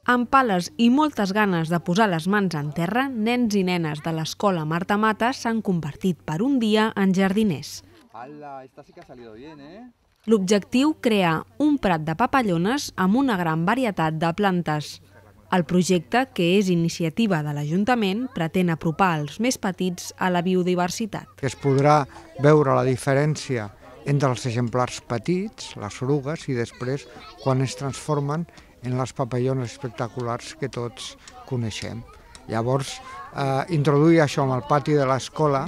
Amb pales i moltes ganes de posar les mans en terra, nens i nenes de l'escola Marta Mata s'han convertit per un dia en jardiners. L'objectiu, crear un prat de papallones amb una gran varietat de plantes. El projecte, que és iniciativa de l'Ajuntament, pretén apropar els més petits a la biodiversitat. Es podrà veure la diferència entre els exemplars petits, les orugues, i després quan es transformen en les papallones espectaculars que tots coneixem. Llavors, introduir això en el pati de l'escola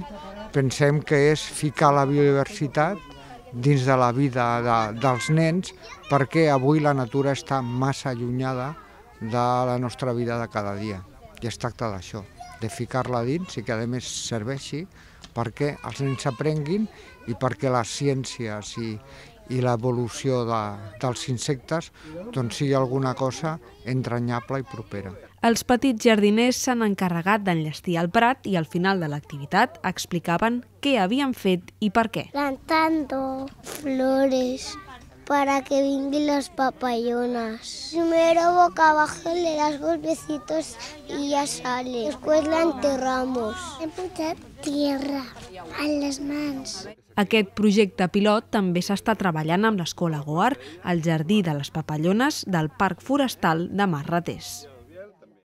pensem que és ficar la biodiversitat dins de la vida dels nens, perquè avui la natura està massa allunyada de la nostra vida de cada dia. I es tracta d'això, de ficar-la dins i que a més serveixi perquè els nens aprenguin i perquè les ciències i l'evolució dels insectes sigui alguna cosa entranyable i propera. Els petits jardiners s'han encarregat d'enllestir el prat i al final de l'activitat explicaven què havien fet i per què. Plantando flores para que vengan las papallonas. Primero boca abajo le das golpecitos y ya sale. Después la enterramos. Hem posat tierra a les mans. Aquest projecte pilot també s'està treballant amb l'Escola Goar al Jardí de les Papallones del Parc Forestal de Mas Ratés.